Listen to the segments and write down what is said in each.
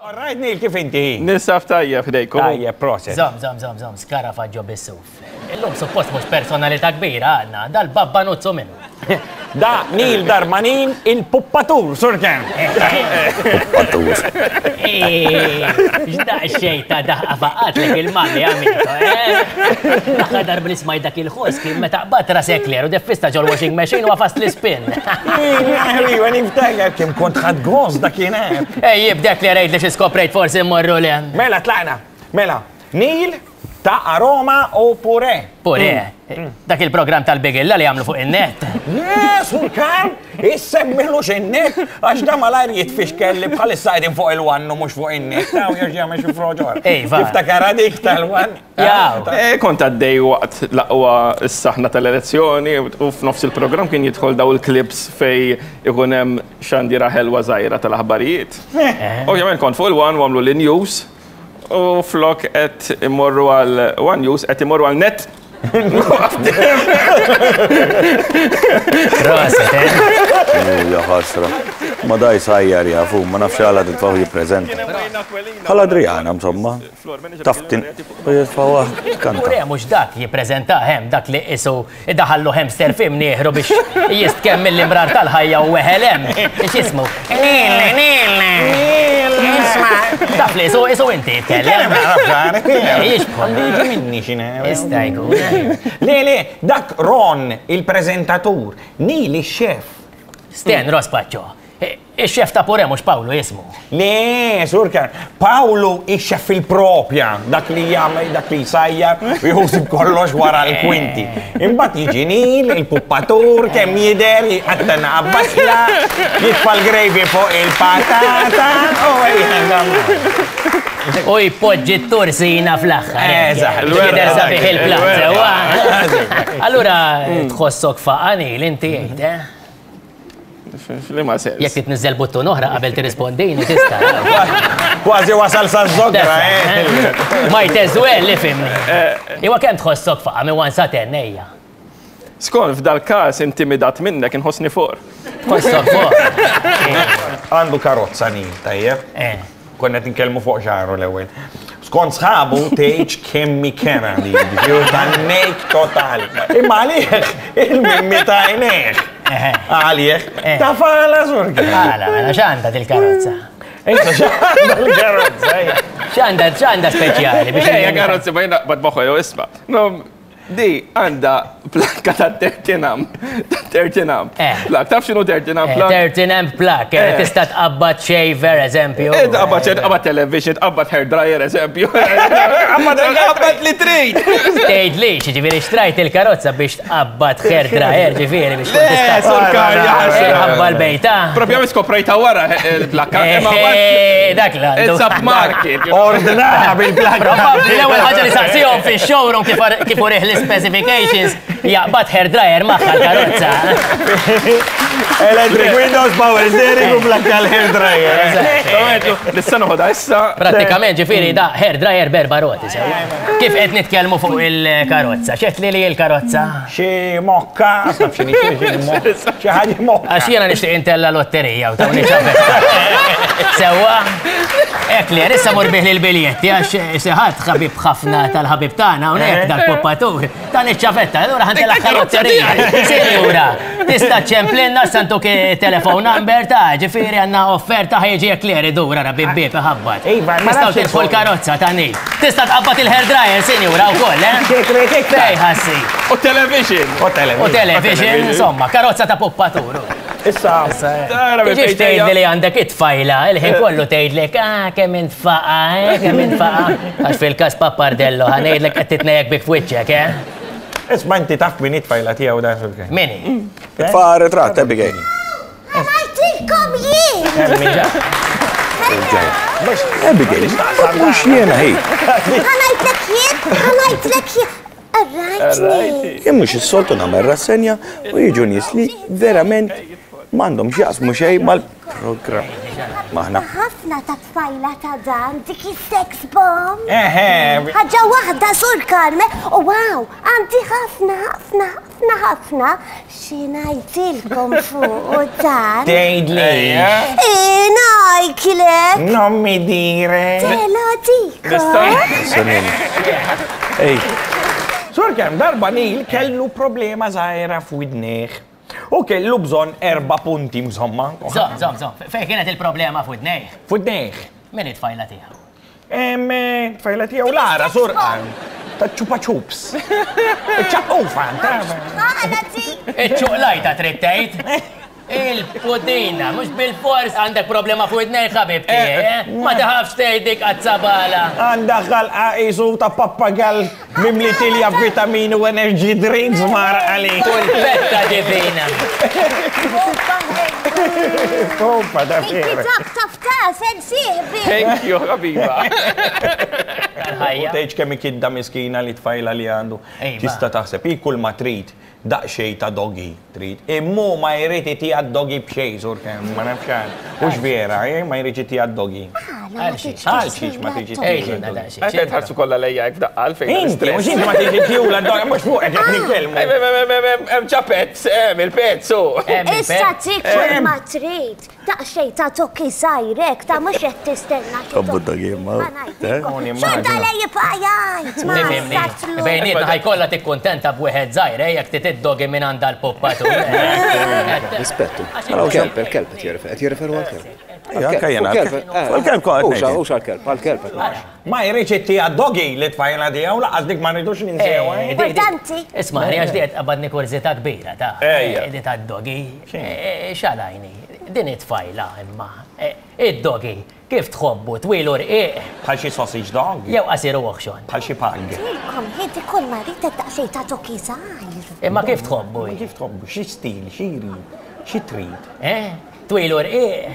All right, Neil, kif inti? Ninsab tajjeb ħdejkom. Tajjeb, proset. Żomm, żomm, żomm, żomm, skarafaġġo bis-suf. Illum suppost mhux personalità kbira għandna, dal-babba nuzzu minnu. Da Neil Darmanin, il-puppatur, sur Ken. Puppatur. X'daqsxejn ta' daħqa faqatlek il-mami, amico, eh? L-aħħar darba li smajt dak il-ħoss kien meta qbadt ras Eclair u deffista ġol-washing machine u għafast l-ispin. Iva, niftakar kemm kont ħadd gost dakinhar. Ej, jibdek li rejt li xi skoprejt forsi mmorru le. Mela tlaqna. Mela, Neil ta' Aroma u Purè. Purè? Dak il-programm tal-bigilla li għamlu fuq in-net. Le, Sur Karl, issemmilux in-net għax da malajr jitfixkel li bħalissa qegħdin fuq il-one u mhux fuq in-net. Taw jerġa' jagħmel xi froġor. Iva. Tiftakar dik tal-one? Jaw. Eh, kont għaddej waqt l-aqwa s-saħna tal-elezzjoni u f'nofs il-programm kien jidħol daw il-clips fej ikun hemm xandira ħelwa żgħira tal-aħbarijiet. Ovvjament kont fuq il-one u għamlu l-news u flok qed imorru għal One News qed imorru għal net. Proset, eh? Ja ħasra. Ma daj sajjar jafu, ma nafx għala titfaħu jippreżenta. Bħal Adriana, insomma. Taf tin. U jitfawa kanta. Ure mhux dak jippreżenta hemm dak li qisu idaħallu hamster fi mnieħru biex jistkemm mill-imrar tal-ħajja u weħel hemm. X'ismu? Nil, nil, nil, isma'. Taf li qisu qisu inti jitkellem. Jixbħu. Għandu jiġi minni x'inhu. Jista' jkun. Le, le, dak Ron, il-preżentatur, Neil ix-xef. Sten Rospaċċo. Ix-xef ta' Purè mhux Pawlu jismu. Le, Sur Karl, Pawlu ix-xef fil-propja, dak li jagħmel, dak li jsajjar, u jħossib kollox wara l-kwinti. Imbagħad jiġi Neil, il-puppatur, kemm jidher, jqatta' naqa' basla, jitfa' l-gravy fuq il-patata, u ejja. U jpoġġi t-tursina fl-aħħar. Eżatt. Jidher sabiħ il-platt, sewwa. Allura tħossok faqa' Neil inti għid, eh? F'liema sens? Jekk titniżżel buttun oħra qabel tirrispondini tista'. Kważi wasal sa żogra, eh? Might as well, ifhimni. Iwa kemm tħossok faqa' minn 1 sa 10 ejja. Skont f'dal-każ intimidat minnek inħossni for. Tħossok for. Għandu karozza Neil, tajjeb? Eh. Konna qed nitkellmu fuq xagħru l-ewwel. Skont sħabu tgħidx kemm hi kera li jiġifieri tan-nejk totali. Imma għalih il-mimmi ta' għajnejh. Għalih ta' fala sur. Għala, mela x'għandha dil-karozza? Issa x'għandha l-karozza? X'għandha x'għandha speċjali biex. Ejja karozza ma jiena qbad moħħu jew isma'. Di għandha plakka ta' 13 amp. Ta' 13 amp. Eh. Plak, taf x'inhu 13 amp plak? 13 amp plak, eh, tista' tqabbad shaver, eżempju. Eh, tqabbad shaver, tqabbad television, tqabbad hair dryer, eżempju. Tqabbad li trid. Tgħidli, ġifieri xtrajt il-karozza biex tqabbad hair dryer, ġifieri biex tkun tista' Sur Karl, Ħabba l-bejta. Propjament skoprejta wara il-plakka. Dak l-għandu. It's up market. Ordna bil-plakka. Probabbli l-ewwel ħaġa li saqsihom fix-showroom kif urih l-specifications jaqbad hair dryer magħha l-karozza. Electric windows, power steering u plakka l-hair dryer. Nista' noħodha issa. Prattikament ġifieri da hair dryer b'erba' roti sewwa. Kif qed nitkellmu fuq il-karozza? X'għedt li li l-karozza? Xi mokka, taf x'inhi xi mokka, xi ħaġa mokka. Għax jiena nixtieq intella lotterija u tawni ċavetta. Sewwa? Hekk li, issa mur bih l-biljetti għax xi ħadd ħabib ħafna tal-ħabib tagħna hawnhekk dal-poppatur. Tani ċavetta, allura ħantella lotterija. Sinjura, tista' ċemplinna santuk telefon number ta' ġifieri għandna offerta ħejġi Eclair idur ara bib bib iħabbat. Iva, ma Tistgħu nafx tidħol karozza ta' Neil. Tista' tqabbad il-hair dryer, sinjura, wkoll, eh? Fej ħassi. U television. U television. U television, insomma, karozza ta' poppatur. Issa. Tara minn Tiġix fejn ġejja. tgħidli li għandek it-tfajla, il-ħin kollu tgħidlek, ah, kemm int faqa, eh, kemm int faqa. Għax fil-każ Pappardello, ħa ngħidlek qed titnejjek bik f'wiċċek, eh? Isma' inti taf min hi t-tfajla tiegħu dan fil-kien. Min hi? Itfa' ritratt, Abigail. Ngħidilkom jien! Abigail, mhux jiena hi. Ħa ngħidlek jien, ħa ngħidlek jien. Arrajtni. Jien mhux is-soltu nagħmel rassenja u jiġu nies li verament. M'għandhom x'jaqsmu xejn mal-programm. Maħna. Ħafna ta' tfajla ta' dan dik is-sex bomb. Eħe. Ħaġa waħda sur Carme, u wow, għandi ħafna ħafna ħafna ħafna xi ngħidilkom fuq dan. Tgħidli. Ngħidlek. Non mi dire. Te lo dico. Ej. Sur kemm darba Neil kellu problema żgħira f'widnejh. U kellu bżonn erba' punti insomma. Żomm, żomm, żomm. Fejn kienet il-problema f'widnejh? F'widnejh. Min hi t-tfajla tiegħu? Ehm, tfajla tiegħu Lara, sur ta' ċupa ċups. Ċaqqufa, Iċ-ċuqlajta trid tgħid. Il-pudina, mhux bil-fors għandek problema fuq id-nejn ħabib tiegħi, eh? Ma taħafx tgħid dik qazzabala. Għandha ħalqa qisu ta' pappagall mimli tilja vitamini u energy drinks mar għalik. U l-fetta divina. Opa, da vera. Dak taf ta' sen sieħbi. Thank you, ħabiba. Tal-ħajja. Tgħidx kemm ikidda miskina li tfajla li għandu. Iva. Tista' taħseb hi kull ma trid Daqsxejn ta' doggy trid. Imma hu ma jrid itiha d-doggy b'xejn, sur kemm, ma nafx għal. Hux vera, eh, ma jridx itiha d-doggy. Għala ma tridx Għal xiex ma tridx itiha d-doggy? Għalfejn tħarsu kollha lejja hekk f'daqqa għalfejn. Inti, mhux inti ma tridx itihula d-doggy, mhux fuqek qed nitkellmu. Hemm ġa pets, hemm il-pets hu. Issa tikol ma trid. Daqsxejn ta' tokki żgħir hekk ta' mhux qed tistenna xi Tħobbu d-doggy imma. Xorta le jibqa' jgħid ma satlu. Bejnietna ħajkollha tikkuntenta b'wieħed żgħir eh jekk trid id-doggy minn għand dal-puppatur. Rispettu. Il-kelb, il-kelb qed jirreferu, qed jirreferu għall-kelb. Anke jiena. Għall-kelb kont qed ngħid. Hux għall-kelb, għall-kelb qed ngħid. Ma jridx ittiha d-doggy li tfajla tiegħu lanqas dik ma rridux ninsew. Eh, Importanti. Isma' għax di qed tqabbadni kurżità kbira ta' di tad-doggy. X'għalajni? Din it-tfajla imma. Id-doggy kif tħobbu twil u rqiq? Bħal xi sausage dog. Jew qasir u oħxon. Bħal xi pug. Tilkom ħiedi kull ma rrid daqsxejn ta' doggy żgħir. Imma kif tħobbu? Kif tħobbu? Xi stil, xi jrid, xi trid? Eh? Twil u rqiq.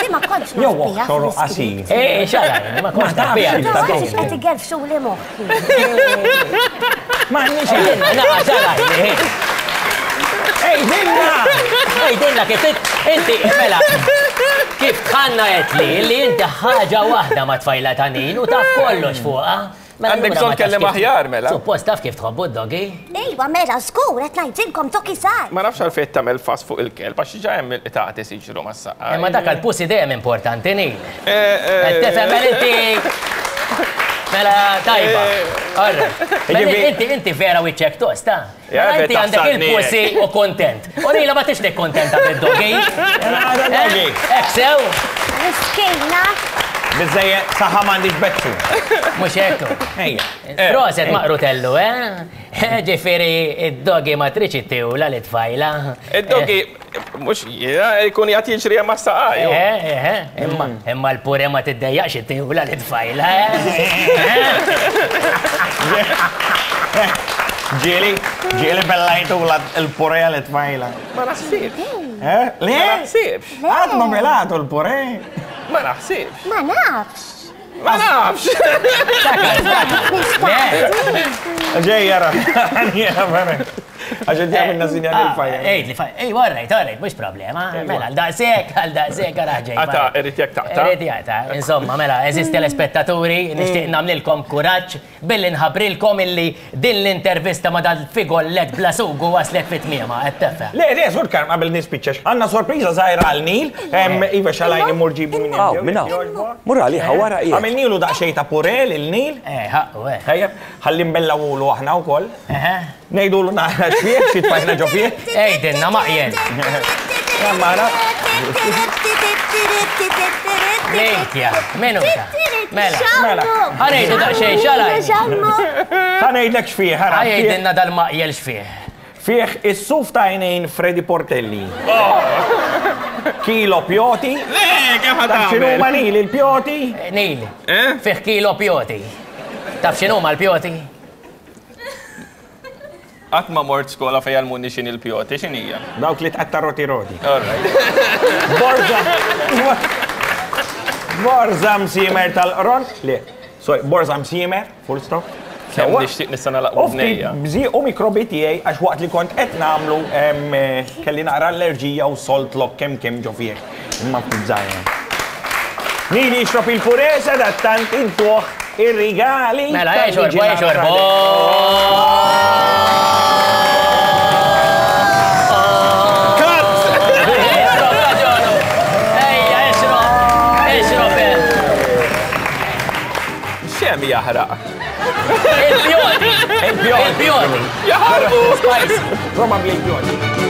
Di ma kontx naf Jew biha oħxor u fl-iskript. qasir. Eh, x'għalajni, ma kontx naf biha. Ma tafx qed igerfxuli moħħi. Ma għandniex Għidilna, naqa x'għalajni. Għidilna! Għidilna kif inti, mela, kif tħanna għedtli li inti ħaġa waħda ma' tfajla ta' Nin u taf kollox fuqha. Mela Għandek allura bżonn ma tafx kelliem kif- aħjar, mela. Suppost taf kif tħobbu d-doggy. Ejwa mela żgur qed ngħidilkom doggy żgħar. Ma nafx għalfejn qed tagħmel fass fuq il-kelb għax diġà hemm il-qtates jiġru mas-saqaj. Imma dak għall-pussy dejjem importanti, Neil. Qed tifhem mela inti Mela tajba. All right. Mela inti inti vera wiċċek tost, ta? Mela inti għandek il-pussy u kontent. U Neil ma tix nikkontenta bid-doggy. Doggy. Hekk sew? Miskina. Biżżejjed saħħa m'għandix bezzu. Mhux hekk. Ejja. Proset maqrutellu, eh? Ġifieri id-doggy ma tridx ittewla li tfajla. Id-doggy mhux jiena jkun jgħid jiġri hemm mas-saqaj. Eh, eh, eh, imma imma l-pure ma tiddejjaqx ittewla li tfajla, eh? Ġieli, ġieli bellajtula l-pure li tfajla. Ma naħsibx. Eh? Le? Ma naħsibx. Qatt ma belatu l-pure. Ma naħsibx. Ma nafx. Ma nafx. Ġej jara. Għax inti għamilna sinjal il-fajja. Ejt li fajja. Ej, all right, mhux problema. Mela, għal daqshekk, għal daqshekk għara ġej. Għata, irrid jekk taqta'. Irrid jaqta'. Insomma, mela, eżisti telespettaturi, nixtieq nagħmlilkom kuraġġ Billi nħabbrilkom illi din l-intervista ma' dal-figollet bla sugu waslet fi tmiemha, qed tefhem. Le, le, Sur Karm, qabel nispiċċa, għandna sorpriża żgħira għal Neil. Iva, xalajni mur ġibu minn Hawn, minn hawn. Mur għaliha wara qiegħed. Għamilnilu daqsxejn ta' purè lil Neil. Eh, ħaqqu, eh. Tajjeb, ħalli nbellgħulu aħna wkoll. Eħe. Ngħidulu naqra x'fih, xi tfajna ġo fih. Għidilna, maqjel. Mara. Lejtja, minuta. Mela. Mela. Ħanejdu daqsxejn xalaj. Ħa ngħidlek x'fih, ħara. Ħajdilna dal-maqjel x'fih. Fih is-suf ta' għajnejn Freddy Portelli. Kilo pjoti. Le, kemm ħa Taf x'inhuma tagħmel? Neil il-pjoti? Neil, Eh? fih kilo pjoti. Taf x'inhuma l-pjoti? Qatt ma mort skola fejn jgħallmuni x'inhi l-pjoti, x'inhija? Dawk li tqatta' roti roti. All right. Borza. Borza msiemer tal-qron. Le, sorry, borza msiemer, full stop. Kemm nixtieq nista' nagħlaq U ftit bżieq u mikrobi tiegħi għax waqt li kont qed nagħmlu kelli naqra allerġija u salt lock kemm kemm ġo fih. Imma ftit żgħira. Min jixrob il-pureza dattant intuh ir-rigali. Mela, ejja xorbu, ejja xorbu. Xem jaħraq. Il-pjodi! Il-pjodi! Il-pjodi! Jaħarqu! Spicy! Probabbli il-pjodi.